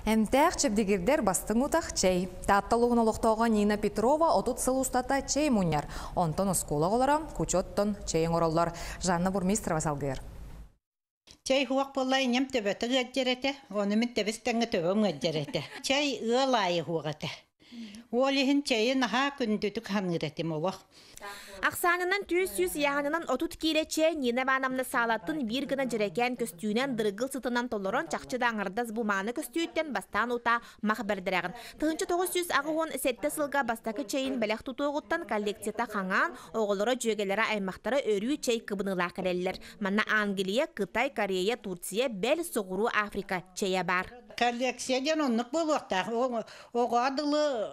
Әмтәқ чепдегердер бастың ұтақ чей. Татталуғын олықтауға Нина Петрова отут сыл ұстата чей мұньяр. Онтон ұскула олара, күчоттон чейін ораллар. Жанна Бурмистрова салғыр. Чай хуак болай нем төбөтө гәҗәрәтә, оны мен төбестәңгә төбөм гәҗәрәтә. Чай ылай хугата. Олиһин чайы наха күндүтүк хангырәтем олах. Ақсанынан түйіс яғанынан отут кейлече Нина банамны салаттын бір гына жүрекен көстүйінен дыргыл сытынан толырон чақчыда аңырдаз бұманы көстүйіттен бастан ұта мақ бәрдірәғін. Тұғынчы 900 ағуын сәтті сылға бастақы чайын бәләқ тұтуғыттан коллекцията қаңан, оғылыры жөгелері аймақтары өрі чай кыбыныла кәрелілер. Манна Англия, Қытай, Корея, Турция, бәл соғыру Африка чая бар. Коллекциядан оннық болуақта, оғадылы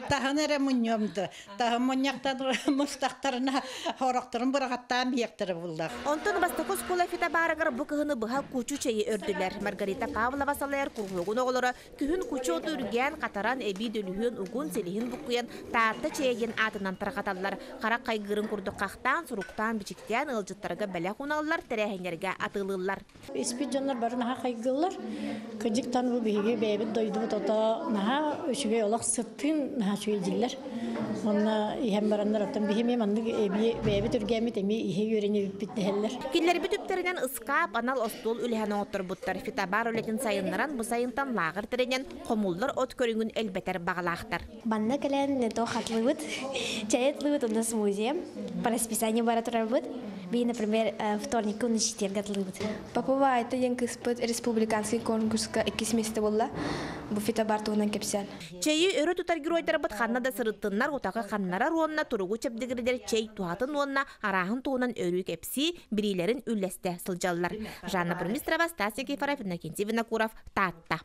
тағынары мұньемді. Тағын мұньяқтар мұстақтарына хорақтырын бұрағаттан бияқтыры бұлдар. Онтын бастақы скола фита барығыр бұқығыны бұға күчу чайы өрділер. Маргарита Павлова салайыр күрғылығын оғылары күхін күчу оты үрген қатаран әбей дөліхін үгін селихін бұқыян таатты чайыген атынан тарқаталар. Қарақ қайғырын күрді қақтан, сұруқтан, бичіктен ұлжыттарға бәлі құналылар, тәрәхенерге атылылар. Гыллар кыжыктан бу биге бебит дойду тота наха өчүгө олак сыттын наха чөйдиллер. Онна иһем барандар аттан бихеме мандык эби бебит үргәми теми иһе йөренә биттелер. Киллер бүтүптеринен ыскап анал остол үлһән оттыр буттар фитабар үлетин сайыннаран бу сайынтан лагыр теренен комуллар от көрүнгүн элбетер багалактар. Банна келен не то хатлыбыт. Чаятлыбыт у нас музей. По расписанию баратрабыт. Би, например, вторник и четверг атлыбыт. Папова это янкыспыт республиканский конкурска 2 месяца болла. Буфета бартугунан кепсен. Чайы өрө тутар геройдары бит ханнада сырыттыннар утакы ханнара руонна туругу чепдигирдер чай туатын уонна арахын туунан өрү кепси бирилерин үллесте сылжаллар. Жанна Бурмистрова, Стасия Кефаров, Иннокентий Винокуров, Татта.